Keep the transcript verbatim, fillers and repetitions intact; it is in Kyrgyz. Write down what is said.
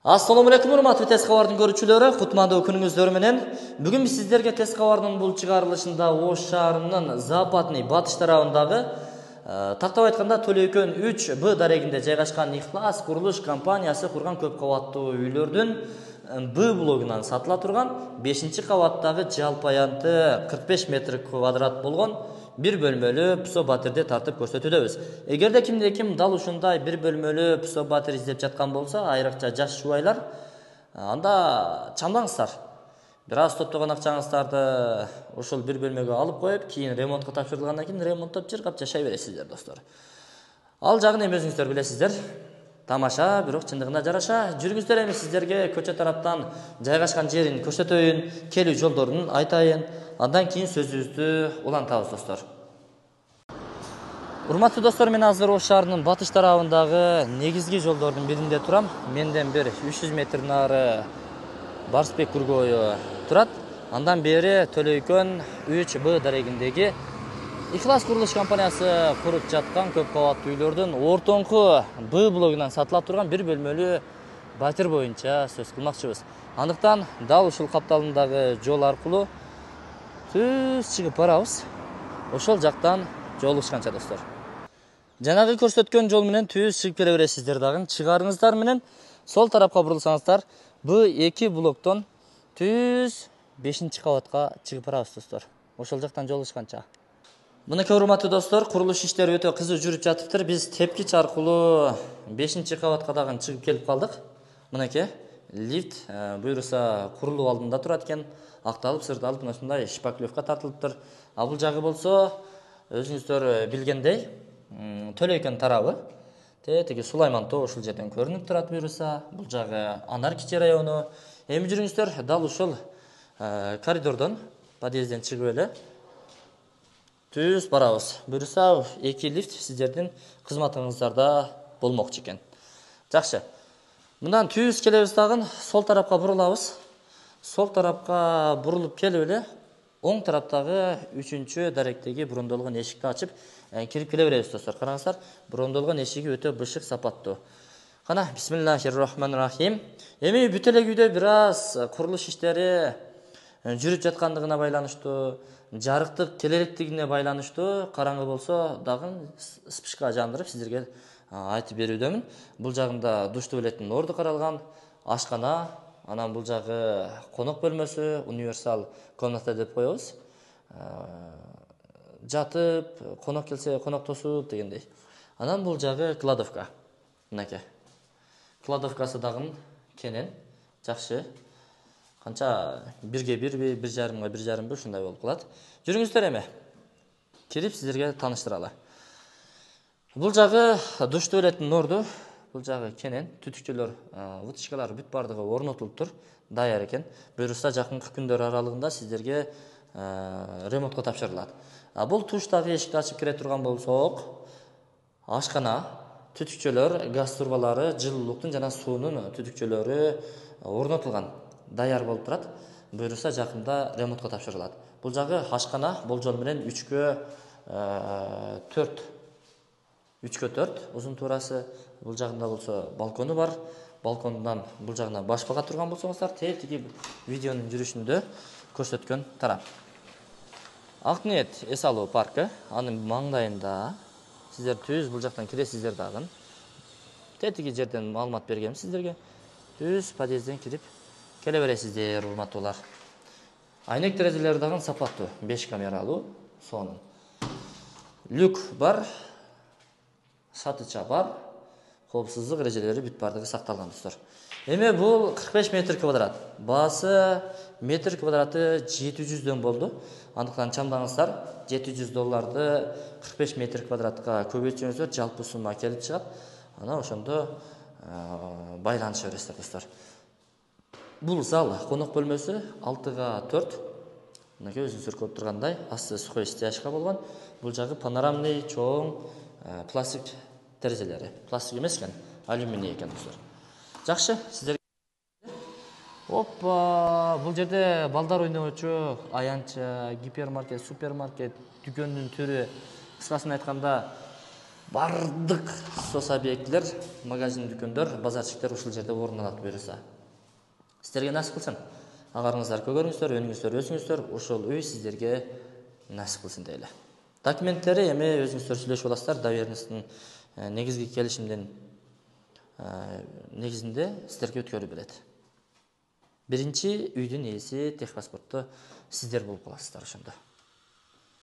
Assalamu alaikum урматтуу тез кабардын көрүүчүлөрү, кутмандуу күнүңүздөр менен. Бүгүн биз сиздерге тез кабардын бул чыгарылышында Ош шаарынын Западный батыш тарабындагы тактап айтканда Төлөйкөн үч Б дарегинде жайгашкан Ихлас курулуш компаниясы курган көп кабаттуу үйлөрдүн Б блогунан сатыла турган бешинчи кабаттагы жалпы аянты кырк беш метр квадрат болгон бир бөлмөлүү псо батирди тартып көрсөтүүдөбүз. Эгерде кимде ким дал ушундай бир бөлмөлүү псо батир издеп жаткан болсо, айрыкча жаш жубайлар, анда чамдаңыздар. Бир аз топтогон акчаңыздарды ушул бир бөлмөгө алып коюп, кийин ремонтко тапшырылгандан кийин ремонттоп жыргап жашай бересиздер, достор. Ал жагын эми өзүңүздөр билесиздер. Тамаша, бирок чындыгына жараша. Жүрүңүздөр, эми сиздерге көчө тараптан жайгашкан жерин көрсөтөйүн, келүү жолдорун айтайын. Андан кийин сөзүбүздү улантабыз, достор. Урматтуу достор, мен азыр Ош шаарынын батыш тарабындагы негизги жолдордун биринде турам. Менден бир үч жүз метр нары Барсбек Күргөйү турат. Андан бери Төлөйкөн үч Б дарегиндеги Ихлас курулуш компаниясы куруп жаткан көп кабаттуу үйлөрдүн ортоңку Б блогунан сатыла турган бир бөлмөлүү батир боюнча сөз кылмакчыбыз. Андыктан дал ушул капталындагы жол аркылуу түз чыгып барабыз. Ошол жактан жолугушканча, достор. Жанагы көрсөткөн жол менен түз чыгып келе бересиздер дагы. Чыгарыңыздар менен сол тарапка бурулсаңыздар, Б эки блоктон түз бешинчи кабатка чыгып барабыз, достор. Ошол жактан жолугушканча. Мынакей урматтуу достор, курулуш иштери өтө кызуу жүрүп жатыптыр. Биз тепкич аркылуу бешинчи кабатка дагы чыгып келип калдык. Мынакей лифт буюрса курулуу алдында турат экен, акталып, сырдалып, мына ушундай шпаклевка тартылыптыр. А бул жагы болсо, өзүңүздөр билгендей, Төлөйкөн тарабы. Тетиги Сулайман тоо ушул жерден көрүнүп турат буюрса. Бул жагы Анар Кичи району. Эми жүрүңүздөр, дал ушул коридордон, подъезден чыгып эле түз барабыз. Буюрса эки лифт сиздердин кызматыңыздарда болмокчу экен. Жакшы. Мындан түз келебиз дагы, сол тарапка бурулабыз. Сол тарапка бурулуп келип эле оң тараптагы үчүнчү даректеги брондолгон эшикти ачып кирип келе беребиз, достор. Караңыздар, брондолгон эшиги өтө бышык, сапаттуу. Кана, бисмиллахир-рахманир-рахим. Эми бүт эле үйдө бир аз курулуш иштери жүрүп жаткандыгына байланыштуу, жарыктык келеректигине байланыштуу караңгы болсо дагы спичка жандырып сиздерге айтып берүүдөмүн. Бул жагында душ туалеттин орду каралган, ашкана, анан бул жагы конок бөлмөсү, универсал комната деп коебуз. Жатып, конок келсе коноктосуп дегендей. Анан бул жагы кладовка. Мынакей. Кладовкасы дагы кенен, жакшы. Канча бирге бирби, бир жарымга бир жарымбы ушундай болуп калат. Жүрүңүздөр, эми кирип сиздерге тааныштыралы. Бул жагы душ туалеттин орду. Бул жагы кенен, түтүкчөлөр, вытычкалар бүт бардыгы орнотулуптур, даяр экен. Буюрса жакынкы күндөр аралыгында сиздерге ремонтко тапшырылат. А бул туштагы эшикти ачып кире турган болсок, ашкана, түтүкчөлөр, газ турбалары, жылуулуктун жана суунун түтүкчөлөрү орнотулган, даяр болуп турат. Буюрса жакында ремонтко тапшырылат. Бул жагы ашкана болжол менен үчкө төрт. үчкө төрт узун туурасы. Бул жагында болсо балкону бар. Балкондан бул жагына баш бага турган болсоңуздар, тетиги видеонун жүрүшүндө көрсөткөн тарап. Акниет эс алуу паркы, анын маңдайында сиздер түз бул жактан киресиздер дагы. Тетиги жерден маалымат бергем сиздерге. Түз подъезден кирип келе бересиздер, урматтуулар. Айнек терезелери дагы сапаттуу, беш камералуу, сонун. Люк бар, сатыча бар, коопсуздук эрежелери бүт бардыгы сакталган, достор. Эми бул кырк беш метр квадрат. Баасы метр квадраты жети жүздөн болду. Андыктан чамдаңыздар, жети жүз долларды кырк беш метр квадратка көбөйтсөңүздөр, жалпы сумма келип чыгат. Ана ошондо байланыша бересиздер, достор. Бул зал конок бөлмөсү алтыга төрт. Мынакей өзүңүздөр көрүп тургандай, асты сухой стяжка болгон. Бул жагы панорамный чоң пластик терезелери. Пластик эмес экен, алюминий экен, достор. Жакшы, сиздер. Опа, бул жерде балдар ойночу, аянча, гипермаркет, супермаркет, дүкөндүн түрү, кыскасын айтканда, бардык соц объектилер, магазин, дүкөндөр, базарчыктар ушул жерде орун алат буюрса. Сиздерге насип кылсын. Агарыңыздар көгөрүңүздөр, өнүңүздөр, өсүңүздөр, ошол үй сиздерге насип кылсын дейли. Документтери эми өзүңүздөр сүйлөшүп аласыздар. Доверенностьтун негизги келишимдин негизинде сиздерге өткөрүп берет. Биринчи үйдүн ээси техпаспортту сиздер болуп каласыздар ошондо.